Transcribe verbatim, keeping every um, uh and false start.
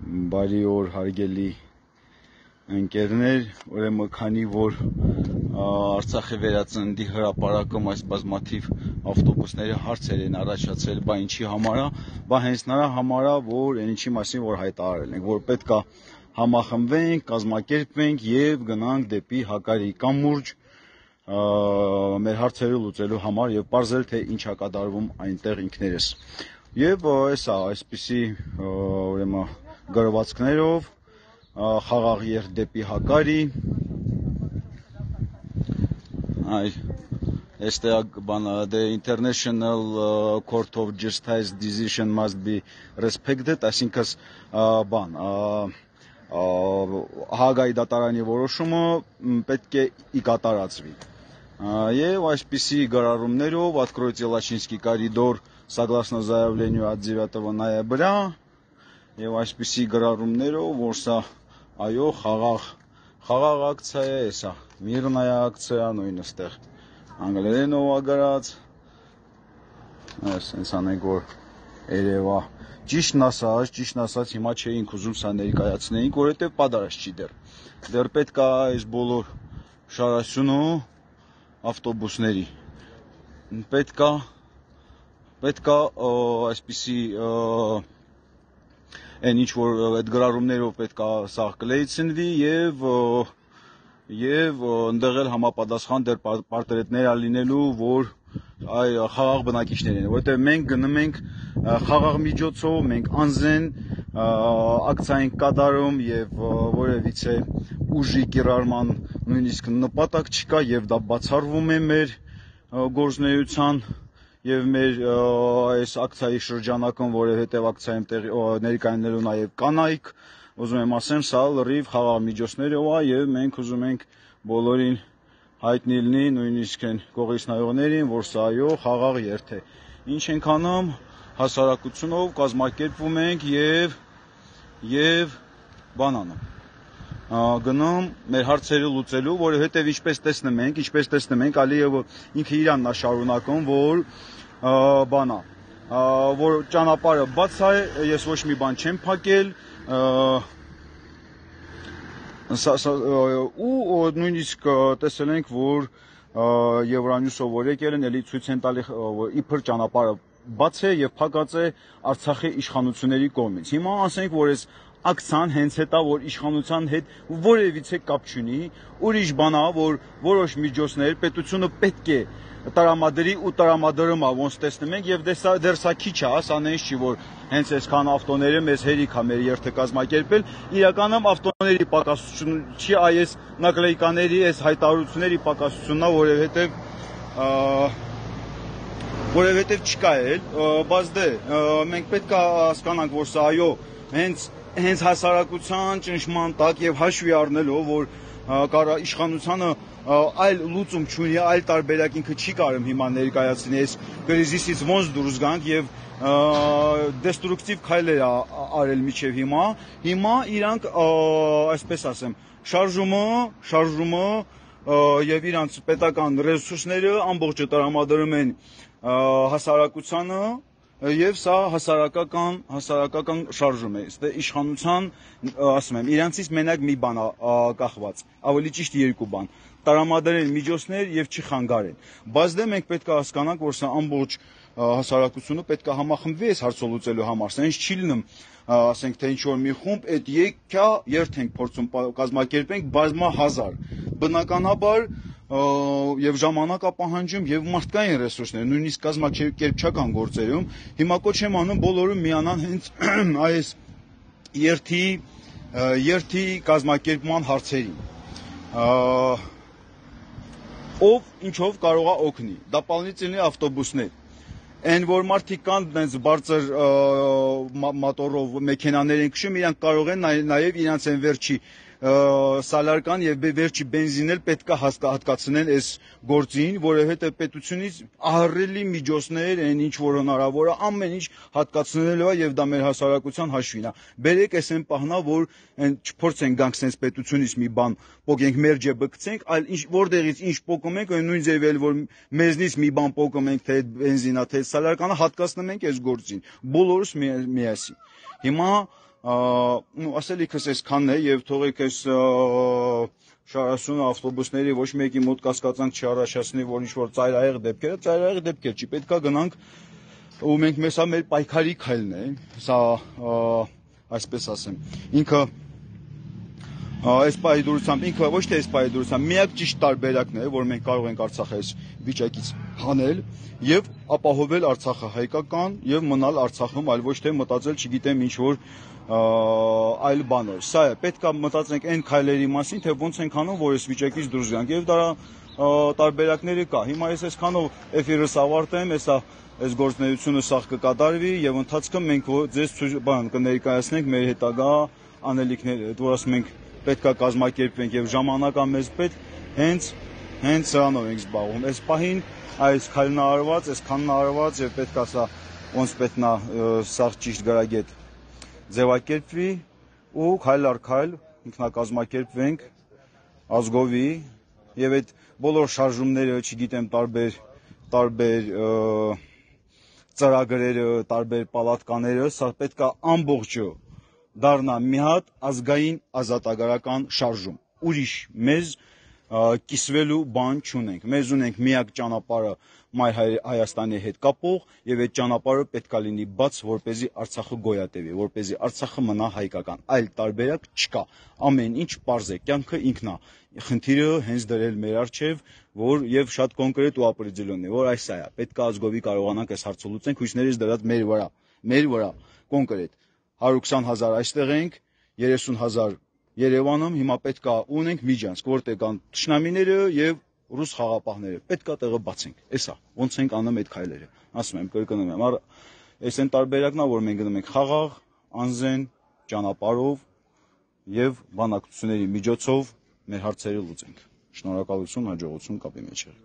Բարի օր հարգելի ընկերներ, ուրեմն քանի որ Արցախի վերածննդի հրապարակում այս բազմաթիվ ավտոբուսների հարցեր են առաջացել, բա ինչի համար է, բա հենց նրա համար է, որ այն ինչի մասին որ հայտարարել ենք, որ պետք է համախմբվենք, կազմակերպվենք եւ գնանք դեպի Հակարի կամուրջ մեր հարցերը լուծելու համար եւ բարձել թե ինչ է կատարվում այնտեղ ինքներս։ Եվ էսա այսպիսի ուրեմն գրվածքներով խաղաղ երթ դեպի Հակարի, այ այստեղ բան the international court of justice decision must be respected, այսինքն բան Հագայի դատարանի որոշումը պետք է կատարածվի։ Եվ այսպիսի գրառումներով откройте Лачинский коридор согласно заявлению от девятого ноября եւ այսպիսի գրառումներով, որ սա այո խաղաղ խաղաղ ակցիա է, սա միրնայա ակցիա նույնը ստեղ անգլերենով է գրած, այսպես անենք որ երևա ճիշտն ասած, ճիշտն ասած հիմա չէինք ուզում սա ներկայացնեինք, որովհետեւ պադարած չի դեռ։ Դեռ պետք է այս բոլոր շարասյունը ավտոբուսների պետք է պետք է այսպիսի այն ինչ որ այդ գրառումներով պետք է սա կլեյցնվի եւ եւ ընդեղ էլ համապատասխան դեռ պարտերետներ ալինելու, որ այ խաղաղ բնակիչներ են, որովհետեւ մենք գնում ենք խաղաղ միջոցով, մենք անզեն ակցիա ենք կատարում եւ որևիցե ուժի կիրառման նույնիսկ նպատակ չկա եւ դա բացառվում է մեր գործունեության եւ մեր այս ակցիայի շրջանակում, որովհետեւ ակցիայում ներկայանալու նաեւ կանայք, ուզում եմ ասեմ, սա լրիվ խաղաղ միջոցներով է եւ մենք ուզում ենք բոլորին հայտնի լինի, նույնիսկ այն կողից նայողներին, որ սա այո խաղաղ երթ է։ Ինչ ենք անում, հասարակությունով կազմակերպվում ենք եւ եւ բան անում։ Գնում մեր հարցերը լուծելու, որովհետեւ ինչպես տեսնում ենք, ինչպես տեսնում ենք, Ալիևը ինքը իրանն է շարունակում, որ բանա, որ ճանապարհը բաց է, ես ոչ մի բան չեմ փակել, ու նույնիսկ տեսել ենք, որ Евроньюսով որ եկել են, էլի ցույց են տալի, իբր ճանապարհը բաց է եւ փակած է Արցախի իշխանությունների կողմից։ Հիմա ասենք, որ այս ակցիան հենց հետա, որ իշխանության հետ որևիցե կապ չունի, ուրիշ բան է, որ որոշ միջոցներ պետությունը պետք է տրամադրի ու տրամադրում է, ոնց տեսնում ենք, եւ դեռ սա քիչ է, սա նենց չի, որ հենց այսքան ավտոները մեզ հերիք է մեր երթը կազմակերպել, իրականում ավտոների պակասություն չի, այս նակլեյկաների, այս հայտարարությունների պակասությունն է, որովհետեւ որովհետեւ չկա էլ, բայց դե մենք պետք է հասկանանք, որ սա այո, հենց հենց հասարակության ճնշման տակ եւ հաշվի առնելով, որ կարա իշխանությունը այլ լուծում չունի, այլ տարբերակ ինքը չի կարում հիմա ներկայացնի այս կրիզիսից ոնց դուրս գանք եւ դեստրուկտիվ քայլեր արել միջև հիմա, հիմա իրանք այսպես ասեմ, շարժումը, շարժումը եւ իրանք պետական ռեսուրսները ամբողջը տրամադրում են հասարակությանը եւ սա հասարակական հասարակական շարժում է, ստե իշխանության, ասում եմ, իրանցից մենակ մի բան կախված, ավելի ճիշտ երկու բան, տրամադրեն միջոցներ եւ չխանգարեն։ Բայց դե մենք պետք է հասկանանք, որ սա ամբողջ հասարակությունը պետք է համախմբվի այս հարցը լուծելու համար, սա ինչ չի լինում, ասենք թե ինչ որ մի խումբ այդ եկա երթ ենք փորձում կազմակերպենք բազմահազար, բնականաբար եւ ժամանակ է պահանջում եւ մարդկային ռեսուրսներ, նույնիսկ կազմակերպչական գործերում, հիմա կոչ եմ անում բոլորը միանան հենց այս երթի երթի կազմակերպման հարցերին։ Ով ինչով կարող է օգնի, дополнительные ավտոբուսներ, այն որ մարդիկ կան այնց բարձր մոտորով մեքենաներ են քշում, իրանք կարող են նաեւ իրանց են վերջի սալարկան եւ վերջի բենզինել պետք է հատկացնեն այս գործին, որովհետեւ պետությունից ահռելի միջոցներ են ինչ որ հնարավոր է, ամեն ինչ հատկացնելու է եւ դա մեր հասարակության հաշվին է։ Բերեք այսեն պահնա, որ այն չփորձենք գանք sense պետությունից մի բան փոկենք մեր ջեբը գցենք, այլ ինչ որտեղից ինչ փոկում ենք, այն նույն ձևել որ մեզնից մի բան փոկում ենք, թե բենզինա, թե սալարկանը հատկացնում ենք այս գործին։ Բոլորս միասին։ Հիմա ու ասելիքս այսքանն է եւ թողեք այս շարասուն ավտոբուսների ոչ մեկի մոտ կասկածանք չառաջացնի, որ ինչ-որ ծայրահեղ դեպքեր, ծայրահեղ դեպքեր չի, պետքա գնանք ու մենք մեսա մեր պայքարի քայլն է, սա այսպես ասեմ, ինքը այս պայդուրությամբ, ինքը ոչ թե այս պայդուրությամբ, միակ ճիշտ տարբերակն է, որ մենք կարող ենք Արցախը այս վիճակից հանել եւ ապահովել Արցախը հայկական եւ մնալ Արցախում, այլ ոչ թե մտածել, չգիտեմ, ինչ որ այլ բաներ։ Սա է, պետք է մտածենք այն քայլերի մասին, թե ոնց ենք անում, որ այս վիճակից դուրս գանք եւ դրա տարբերակները կա։ Հիմա ես այսքանով էֆիրս ավարտեմ, հեսա այս գործունեությունը սաղ կկատարվի եւ ընթացքում մենք ձեզ բան կներկայացնենք մեր հետագա անելիքները, որ ասում ենք պետք է կազմակերպվենք եւ ժամանակ է մեզ պետք, հենց հենց սրանով ենք զբաղվում։ Այս պահին այս քայլն արված, այս քանն արված եւ պետք է սա ոնց պետքնա սաղ ճիշտ գրագետ ձևակերպվի ու քայլ առ քայլ ինքնակազմակերպվենք ազգովի եւ այդ բոլոր շարժումները, չգիտեմ, տարբեր տարբեր ծրագրերը, տարբեր պալատկաները, սա պետք է ամբողջը դառնա մի հատ ազգային ազատագրական շարժում։ Ուրիշ մեզ կիսվելու բան չունենք։ Մեզ ունենք միակ ճանապարհը Մայր Հայաստանի հետ կապող եւ այդ ճանապարհը պետք է լինի բաց, որպեսզի Արցախը գոյատևի, որպեսզի Արցախը մնա հայկական։ Այլ տարբերակ չկա։ Ամեն ինչ պարզ է, կյանքը ինքն է։ Խնդիրը հենց դրել մեր առջև, որ եւ շատ կոնկրետ ու ապրիձիլոն է, որ այս է, պետք է ազգովի կարողանանք այս հարցը լուծենք, հույսներից դրած մեր վրա, մեր վրա կոնկրետ հարյուր քսան հազար այստեղ ենք, երեսուն հազար Երևանում, հիմա պետք է ունենք միջանցք, որտեղ կան թշնամիները եւ ռուս խաղապահները, պետք է տեղը բացենք։ Էսա, ոնց ենք անում այդ քայլերը։ Ասում եմ, կրկնում եմ, առ այս այն տարբերակն է, որ մենք գնում ենք խաղաղ, անզեն ճանապարհով եւ բանակցությունների միջոցով մեր հարցերը լուծենք։ Շնորհակալություն, հաջողություն կապի մեջ եղեք։